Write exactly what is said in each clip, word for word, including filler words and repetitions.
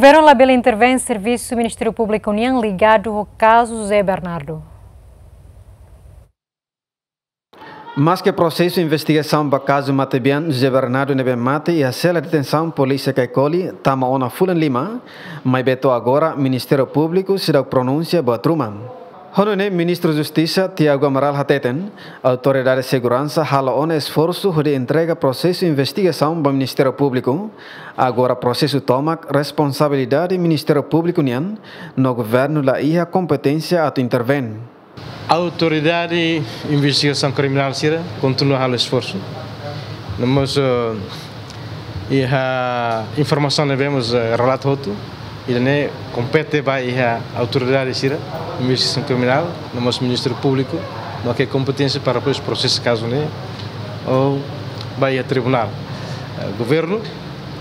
Governu labele intervén servisu Ministériu Públiku nian ligadu ho kazu José Bernardo. Maske prosesu investigasaun ba kazu matebian José Bernardo ne'ebé mate iha sela detensaun polísia Caicoli tama ona fulan lima, maibé to'o agora Ministériu Públiku seidauk pronunsia buat ruma. Ho nune'e Ministru Justisa Tiago Amaral hateten, autoridade seguransa halo ona esforsu hodi entrega prosesu investigasaun ba Ministériu Públiku. Agora prosesu tomak responsabilidade Ministériu Públiku nian, no governu la iha kompeténsia atu intervén. Autoridade investigasaun kriminál sira kontinua halo esforsu. No mós, eh, iha informasaun ne'ebé mós, eh, relata hotu, ida-ne'e kompete ba iha autoridade sira investigasaun kriminál, no mós Ministériu Públiku, no ke kompeténsia para depois prosesa kazu ne'e ou ba iha tribunál. Eh, governu,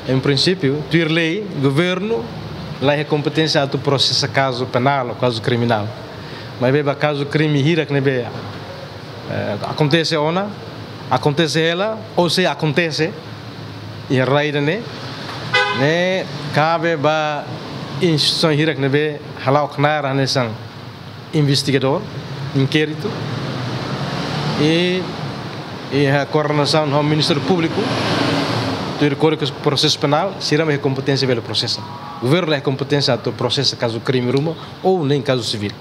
em princípio, tuir lei, governu la iha kompeténsia atu prosesa kazu penál ou kazu kriminál. Maibé ba kazu krime hirak ne'ebé, eh, akontese ona, akontese hela, ou sei akontese iha rai ida-ne'e, ne'e kabe ba instituisaun hirak ne'ebé hala'o knaar hanesan investigadór, inkéritu, i, i iha koordenasaun ho Ministériu Públiku, tuir Kódigu Prosesu Penál, sira mak iha kompeténsia bele prosesa. Governu la iha kompeténsia atu prosesa kazu krime ruma ou nen kazu sivíl.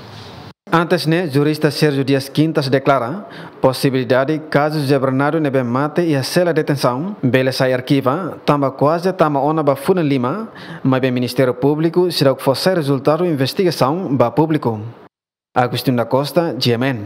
Antes ne'e, jurista Sérgio Dias Quintas deklara, posibilidade kazu José Bernardo ne'ebé mate iha sela detensaun bele sai arkiva, tanba kuaze tama ona ba fulan lima, maibé Ministériu Públiku seidauk fó sai rezultadu investigasaun ba públiku. Agostinho da Costa, G M N.